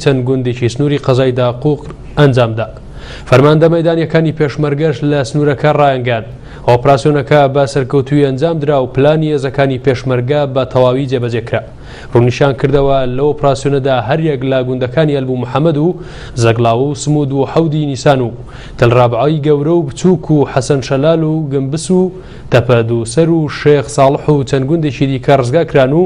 چەند گوندێکی سنووری قەزای داقوق ئەنجامدا. فەرماندە مەیدانییەکانی پێشمەرگەش لە سنوورەکە ڕایانگەیاند، ئۆپراسیۆنەکە بە سەرکەوتوویی ئەنجامدرا و پلانی هێزەکانی پێشمەرگە بە تەواوی جێبەجێ کرا. ڕوونیشیان کردەوە، لەو ئۆپراسیۆنەدا هەریەک لە گوندەکانی ئەلبو محەمەد و زەگڵاوە و سمود و حەودی نیسان و تەل ڕابعەی گەورە و بچووک و حەسەن شەلال و گنبس و تەپە دووسەر و شێخ ساڵح و چەند گوندێکی دیکە ڕزگارکران و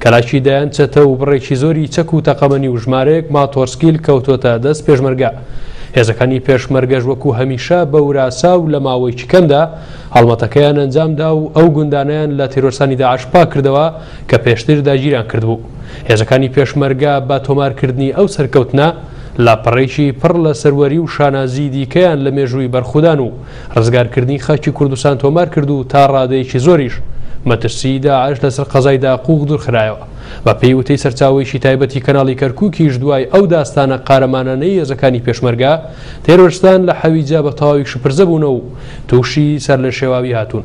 کەلاکی دەیان چەتە و بڕێکی زۆری چەک و تەقەمەنی و ژمارەیەک ماتۆرسکیل کەوتۆتە دەست پێشمەرگە. هێزەکانی پێشمەرگەش وەکو هەمیشە بە وراسا و لە ماوەیەکی کەمدا هەڵمەتەکەیان ئەنجامدا و ئەو گوندانەیان لە تیرۆرستانی داعش پاککردەوە کە پێشتر داگیریان کردبوو. هێزەکانی پێشمەرگە بە تۆمارکردنی ئەو سەرکەوتنە لاپەڕەیەکی پڕ لە سەروەری و شانازی دیکەیان لە مێژووی بەرخودان و ڕزگارکردنی خاکی کوردستان تۆمار کرد و تا ڕادەیەکی زۆریش مەترسیی داعش لەسەر قەزای داقوق دوورخرایەوە. بە پێی وتەی سەرچاوەیەکی تایبەتی کەناڵی کەرکوکیش دوای ئەو داستانە قارەمانانەی هێزەکانی پێشمەرگە، تێرۆرستان لە حەویجە بە تەواوی شپرزە بوونە و تووشی سەرلێشێواوی هاتوون.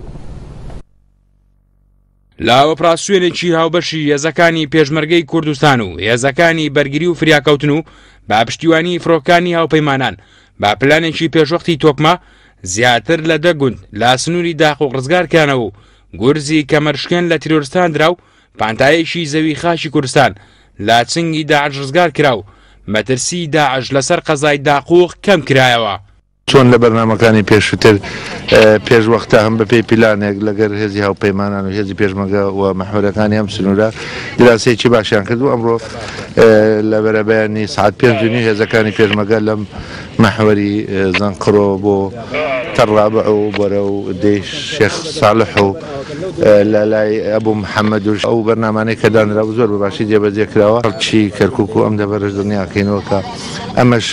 لە ئۆپراسیۆنێکی هاوبەشی هێزەکانی پێشمەرگەی کوردستان و هێزەکانی بەرگری و فریاکەوتن و بە پشتیوانی فرۆکانی هاوپەیمانان بە پلانێکی پێشوەختی تۆکمە زیاتر لە دە گوند لە سنووری داقوق ڕزگارکرانەوە و گورزی کەمەرشکێن لە تیرۆرستان درا و پانتایەکی زەوی خاکی کوردستان لە چنگی داعش ڕزگار کرا و مەترسی داعش لەسەر قەزای داقوق کەم کرایەوە. چۆن لە بەرنامەکانی پێشووتر پێش وەختە هەم بەپێی پیلانێک لەگەر هێزی هاوپەیمانان و هێزی پێشمەرگە و مەحوەرەکانی ئەم سنوورە دراسەیەکی باشیان کرد و ئەمڕۆ لە بەرەبەیانی سەعات 5:30 هێزەکانی پێشمەرگە لەم مەحوەری زەنقرۆ بۆ تەڕابع و بەرەو دێی شێخ ساڵح و لە لای ئەبوو محەممەد و ئەو بەرنامانەی کە دانرابوو زۆر بە باشی جێبەجێ کراوە. خەڵکی کەرکووک و ئەم دەڤەرەش دڵنیاکەینەوە کە ئەمەش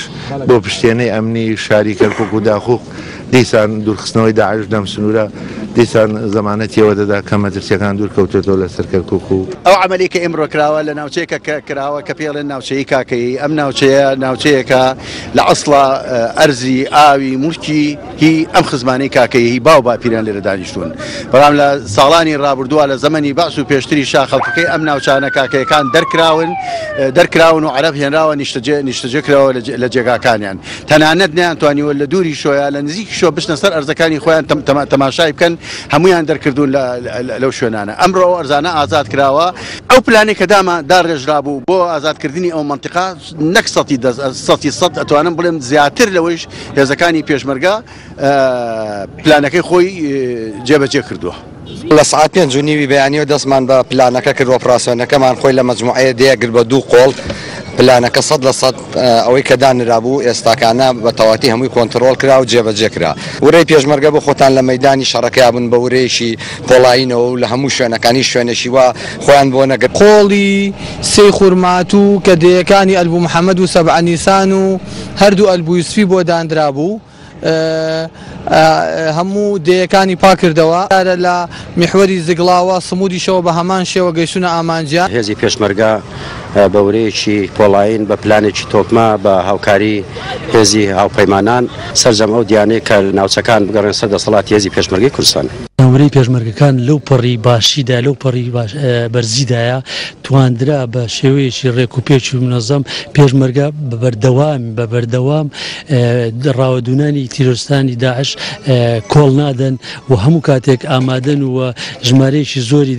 بۆ پشتێنەی ئەمنی شاری کەرکوک و داقوق، دیسان دوورخستنەوەی داعش لەم سنوورە دیسان زەمانەتی ئەوە دەدا کە مەترسییەکان دوور کەوتێتەوە لەسەر کەرکوک و. ئەو عەمەلەی کە ئیمڕۆ کراوە لە ناوچەیەکە کە کراوە کە پێی ئەڵێن ناوچەی کاکەیی، ئەم ناوچەیە ناوچەیەکە لە ئەسڵا ئەرزی ئاوی موڵکی هی ئەم خزمانەی کاکەیی هی باو باپیران لێرە دانیشتوون، بەڵام لە ساڵانی ڕابردووە لە زەمەنی بەعس و پێشتریشا خەڵکەکەی ئەم ناوچانە کاکەیەکان دەرکراون دەرکراون و عەرەب هێنراوە نیشتەجێ نیشتەجێ کراوە لە جێگاکانیان تەنانەت نەیانتوانیوە لە دووری شۆیا لە نزیکی شۆ بچنە سەر ئەرزەکانی خۆیان تەماشای بکەن هەمویان دەرکردوون لەو شوێنانە ئەمڕۆ ئەو ئەرزانە ئازاد کراوە ئەو پلانەی کە داما داڕێژرابوو بۆ ئازادکردنی ئەو مەنتیقە نەک سەتی دەست سەتی سەد ئەتوانم بڵێم زیاتر لەوەیش هێزەکانی پێشمەرگە پلانەکەی خۆی جێبەجێ کردووە. لە سەعات پێنج و نیوی بەیانیەوە دەستمان بە پلانەکە کرد، ئۆپراسیۆنەکەمان خۆی لە مەجموعەیە دەیە گرت بە دوو قۆڵ، پلانەکە 100% ئەوەی کە دانرابوو ئێستاکانە بە تەواتی هەمووی کۆنتڕۆڵ کرا و جێبەجێ کرا. ورەی پێشمەرگە بۆ خۆتان لە مەیدانی شەڕەکەیا بوون بە ورەیەکی پۆڵایینەوە و لە هەموو شوێنەکان هیچ شوێنێکی وا خۆیان بۆ نەگرت. قۆڵی سێی خورماتوو کە دێیەکانی ئەلبو محەمەد و سەبعە نیسان و هەردوو ئەلبو یوسفی بۆ داندرابوو، هەموو دێیەکانی پاکردەوە. لە میحوەری زگڵاوە سمودیشەوە بە هەمان شێوە گەیشتوونە ئامانجیان. هێزی پێشمەرگە بە ورەیەکی پۆڵایین، بە پلانێکی تۆکمە، بە هاوکاری هێزی هاوپەیمانان، سەرجەم ئەو دیانەی کە ناوچەکان بگەڕێن سەر دەسەڵاتی هێزی پێشمەرگەی کوردستان. ورەی پێشمەرگەکان لەو پەڕی باشیدا، لەو پەڕی بەرزیدایە، تواندرا بە شێوەیەکی ڕێک و پێک و مونەزەم پێشمەرگە بە بەردەوام بە بەردەوام ڕاوەدوونانی تیرۆرستانی داعش کۆڵ نادەن و هەموو کاتێک ئامادەن و ژمارەیەکی زۆری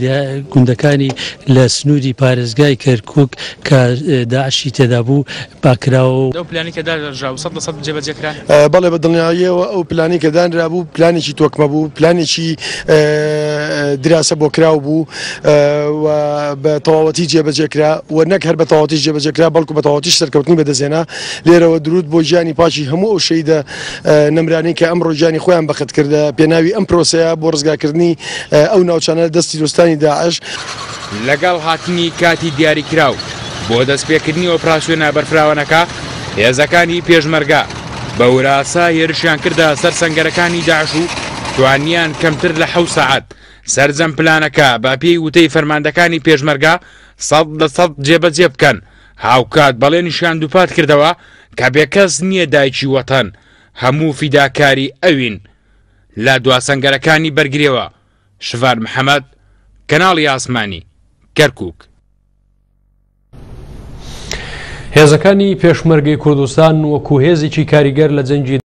گوندەکانی لە سنووری پارێزگای کەرکووک کە داعشی تێدا بوو پاککراوە. ئەو پلانەی کە دانرابوو 100% جێبەجێ کرا؟ بەڵێ بە دڵنیاییەوە ئەو پلانەی کە دانرابوو پلانێکی تۆکمە بوو، پلانێکی دراسە بۆ کراو بوو و بە تەواوەتی جێبەجێ کرا و نەک هەر بە تەواوەتیش جێبەجێ کرا بەڵکو بە تەواوەتیش سەرکەوتنی بەدەستهێنا. لێرەوە دروود بۆ گیانی پاکی هەموو ئەو شەهیدە نەمرانەی کە ئەمڕۆ گیانی خۆیان بەخت کرد لە پێناوی ئەم پرۆسەیە بۆ ڕزگارکردنی ئەو ناوچانە لە دەست تیرۆستانی داعش. لەگەڵ هاتنی کاتی دیاریکراو بۆ دەستپێکردنی ئۆپراسیۆنە بەرفراوانەکە، هێزەکانی پێشمەرگە بە وراسا هێرشیان کردە سەر سەنگەرەکانی داعش و توانیان کەمتر لە حەوت سەعات سەرجەم پلانەکە بە پێی وتەی فەرماندەکانی پێشمەرگە 100% جێبەجێ بکەن، هاوکات بەڵێنیشیان دووپات کردەوە کە بێکەس نییە دایکی وەتەن، هەموو فیداکاری ئەوین. لە دوا سەنگەرەکانی بەرگریەوە شڤان محەمەد، کەناڵی ئاسمانی، کەرکوک. هێزەکانی پێشمەرگەی کوردستان وەکو هێزێکی کاریگەر لە جەنگی.